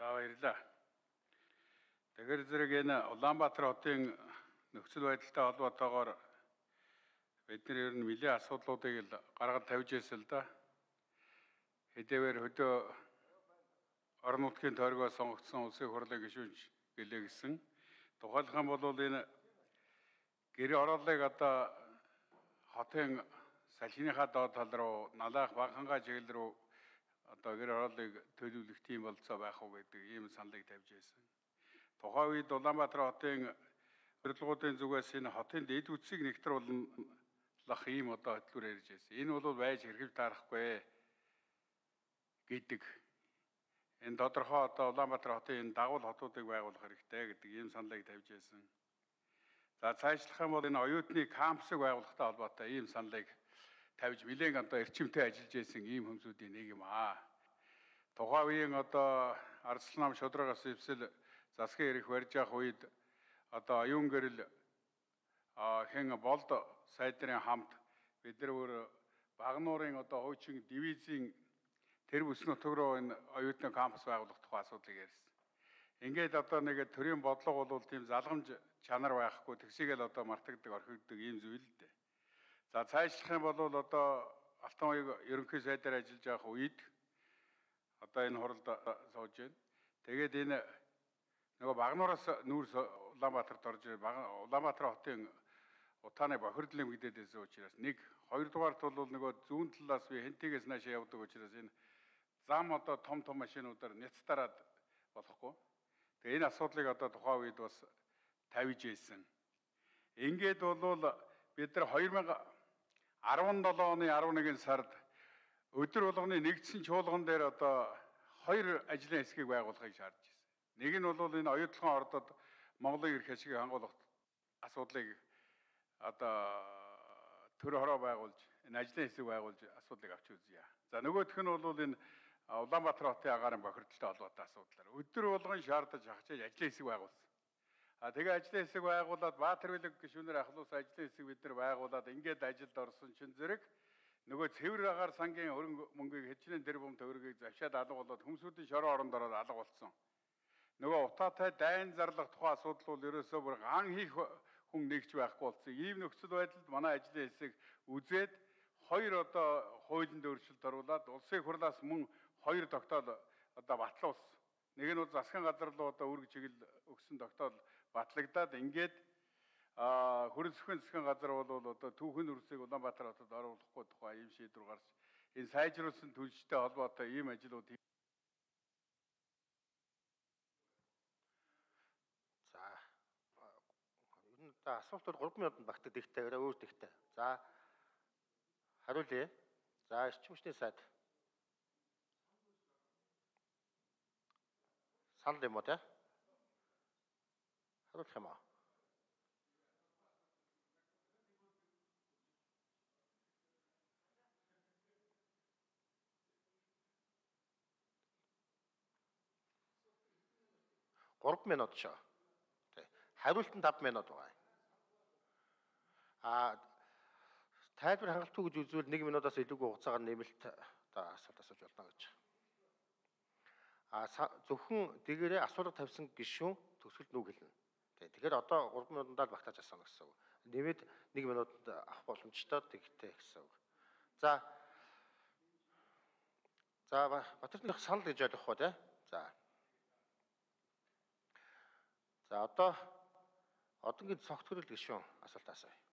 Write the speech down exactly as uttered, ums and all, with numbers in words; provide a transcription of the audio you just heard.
За баярлалаа. Тэгэхээр зэрэг энэ Улаанбаатар хотын нөхцөл байдалтай холбоотойгоор бид нар ер нь нэлээд асуудлуудыг л гаргаж тавьж ирсэн л да. Хэдийгээр хөдөө орон нутгийн тойргоос сонгогдсон улсын хурлын гишүүнч гэлээ гисэн. Тухайлах юм бол энэ гэр ороолыг одоо хотын салхиныхаа доод тал руу налаах Банхангаа чиглэл рүү одоо гэр ороолыг төлөвлөх тийм болцоо байх уу гэдэг ийм саналыг тавьж байсан. Тухайн үед Улаанбаатар хотын урилгуудын зүгээс энэ хотын дэд үтсийг нэгтруулах ийм одоо хөтөлбөр ярьж байсан. Энэ бол байж хэрхэж таарахгүй гэдэг. Энэ тодорхой одоо Улаанбаатар хотын энэ дагвал хотуудыг байгуулах хэрэгтэй гэдэг ийм саналыг тавьж байсан. За цаашлах юм бол энэ оюутны кампусыг байгуулахтай холбоотой ийм саналыг тавьж нэлээд одоо эрчимтэй ажиллаж байсан ийм хүмүүсийн нэг юм аа. Тухайн үеийн одоо Арслан нам шудрагаас ивсэл засгийн эрх барьж явах үед одоо оюун гэрэл хэн болд сайдрын хамт бид нар өөр Багнуурын одоо хуучин дивизийн тэр бүс нутаг руу энэ оюутны кампус байгуулах тухай асуудлыг ярьсан. Ингээд одоо нэг төрийн бодлого бол тийм залгамж чанар байхгүй тэгсийгэл одоо мартагддаг орхигддаг ийм зүйл л дээ. За цаашлах юм бол одоо Алтан уяг ерөнхий сайдаар ажиллаж байх үед одоо энэ хуралд сууж байна. Тэгээд энэ нөгөө Багнуураас нүүрс Улаанбаатарт орж Улаанбаатар хотын утааны бохирдлын мэдээд байсан учраас нэг хоёрдугаарт бол нөгөө зүүн талаас би хэнтигээс наашаа явдаг учраас энэ зам одоо том том машинуудаар няцтараад болохгүй. Тэгээ энэ асуудлыг одоо тухайн үед бас тавьж ийсэн. Ингээд бол бид нар хоёр мянга арван долоо оны арван нэгэн сард өдөр болгоны нэгдсэн чуулган дээр одоо хоёр ажлын хэсгийг байгуулахыг шаардж байсан. Нэг нь бол энэ оюутлогын ордод Монголын эрх ашигыг хангуулах асуудлыг одоо төр хороо байгуулж энэ ажлын хэсэг байгуулж асуудлыг авч үзье. За нөгөөх нь бол энэ Улаанбаатар хотын агаарын бохирдолтой холбоотой асуудлаар өдөр болгон шаардаж хахаж ажлын хэсэг байгуулсан. А тэгээ ажлын хэсэг байгуулад Баатарвилэг гишүүнээр ахлуулсан ажлын хэсэг бид нар байгуулад ингээд ажилд орсон чинь зэрэг нөгөө цэвэр агаар сангийн хөрөнгө мөнгийг хэчнээн тэрбум төгрөгийг завшаад алга болоод хүмүүсийн шороо оронд ороод алга болсон. Нөгөө утаатай дайн зарлах тухайн асуудал бол ерөөсөө бүр ган хийх хүн нэгч байхгүй болсон. Ийм нөхцөл байдалд манай ажлын хэсэг үзээд хоёр одоо хуулийн өөрчлөлт оруулаад улсын хурлаас мөн хоёр тогтоол одоо батлуулсан. Нэг нь бол засгийн газар руу одоо үүрэг чиглэл өгсөн тогтоол батлагдаад ингээд хөрөн сүхэн засгийн газар бол одоо түүхэн үрсийг Улаанбаатар хотод оруулахгүй тухай ийм шийдвэр гарч энэ сайжруулсан төлөвчтэй холбоотой ийм ажлууд. За ер нь асуулт бол гурван минутанд багтдаг ихтэй өөр ихтэй. За хариулъя. За эрчим хүчний сайд санал юм уу те? Хариулах юм аа. гурван минут шүү. Хариултанд таван минут байгаа. А тайлбар хангалтгүй гэж үзвэл нэг минутаас илүүгүй хугацаагаар нэмэлт одоо асуулт асууж болно гэж. А зөвхөн дээрээ асуулга тавьсан гишүүн төгсгөлд нүг хэлнэ. Тэгэхээр одоо гурван минутанд л багтааж асууна гэсэн үг. Нэмээд нэг минутанд авах боломжтой тэгтэй гэсэн үг. За За Батэрдных санал гэж ойлгох уу те? За. За одоо одоогийн цогцгөрөл гишүүн асуулт асууя.